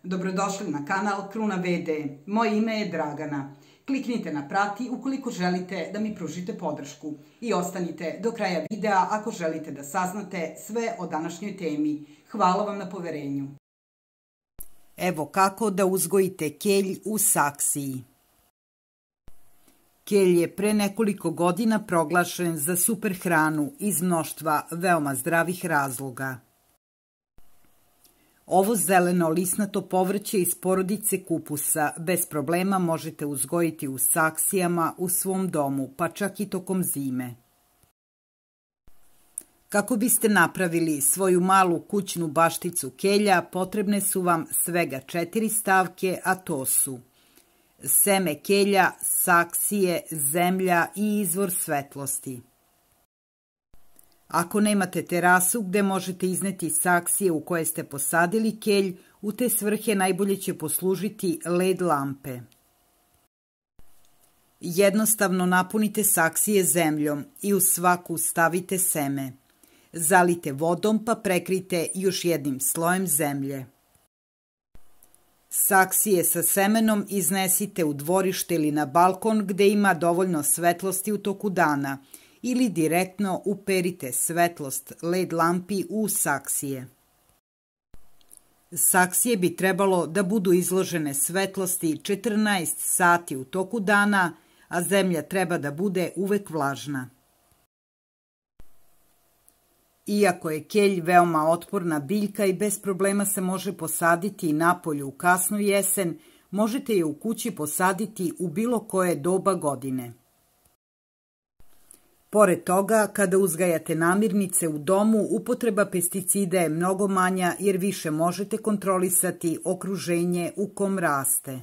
Dobrodošli na kanal Kruna VD. Moje ime je Dragana. Kliknite na prati ukoliko želite da mi pružite podršku i ostanite do kraja videa ako želite da saznate sve o današnjoj temi. Hvala vam na poverenju. Evo kako da uzgojite kelj u saksiji. Kelj je pre nekoliko godina proglašen za super hranu iz mnoštva veoma zdravih razloga. Ovo zeleno lisnato povrće iz porodice kupusa bez problema možete uzgojiti u saksijama u svom domu, pa čak i tokom zime. Kako biste napravili svoju malu kućnu bašticu kelja, potrebne su vam svega 4 stavke, a to su seme kelja, saksije, zemlja i izvor svetlosti. Ako nemate terasu gde možete izneti saksije u koje ste posadili kelj, u te svrhe najbolje će poslužiti LED lampe. Jednostavno napunite saksije zemljom i u svaku stavite seme. Zalite vodom pa prekrijte još jednim slojem zemlje. Saksije sa semenom iznesite u dvorište ili na balkon gde ima dovoljno svetlosti u toku dana ili direktno uperite svetlost LED lampi u saksije. Saksije bi trebalo da budu izložene svetlosti 14 sati u toku dana, a zemlja treba da bude uvek vlažna. Iako je kelj veoma otporna biljka i bez problema se može posaditi i napolju u kasnu jesen, možete je u kući posaditi u bilo koje doba godine. Pored toga, kada uzgajate namirnice u domu, upotreba pesticida je mnogo manja jer više možete kontrolisati okruženje u kom raste.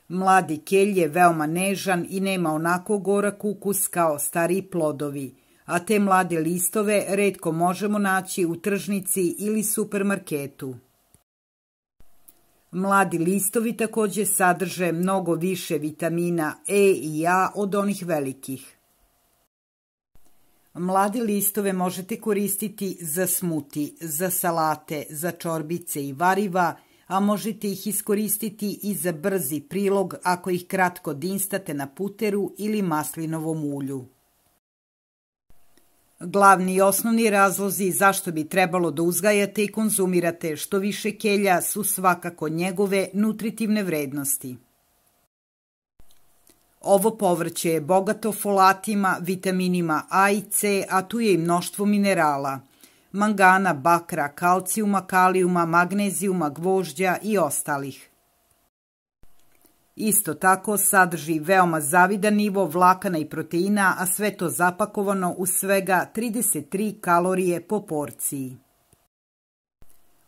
Mladi kelj je veoma nežan i nema onako gorak ukus kao stariji plodovi, a te mlade listove retko možemo naći u tržnici ili supermarketu. Mladi listovi također sadrže mnogo više vitamina E i A od onih velikih. Mlade listove možete koristiti za smuti, za salate, za čorbice i variva, a možete ih iskoristiti i za brzi prilog ako ih kratko dinstate na puteru ili maslinovom ulju. Glavni i osnovni razlozi zašto bi trebalo da uzgajate i konzumirate što više kelja su svakako njegove nutritivne vrednosti. Ovo povrće je bogato folatima, vitaminima A i C, a tu je i mnoštvo minerala: mangana, bakra, kalcijuma, kalijuma, magnezijuma, gvožđa i ostalih. Isto tako sadrži veoma zavidan nivo vlakana i proteina, a sve to zapakovano u svega 33 kalorije po porciji.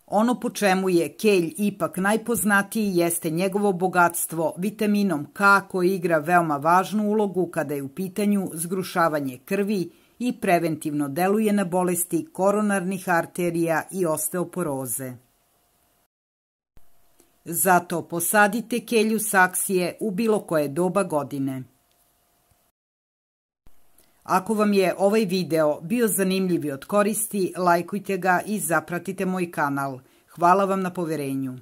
Ono po čemu je kelj ipak najpoznatiji jeste njegovo bogatstvo vitaminom K koji igra veoma važnu ulogu kada je u pitanju zgrušavanje krvi i preventivno deluje na bolesti koronarnih arterija i osteoporoze. Zato posadite kelj u saksije u bilo koje doba godine. Ako vam je ovaj video bio zanimljiv i od koristi, lajkujte ga i zapratite moj kanal. Hvala vam na poverenju.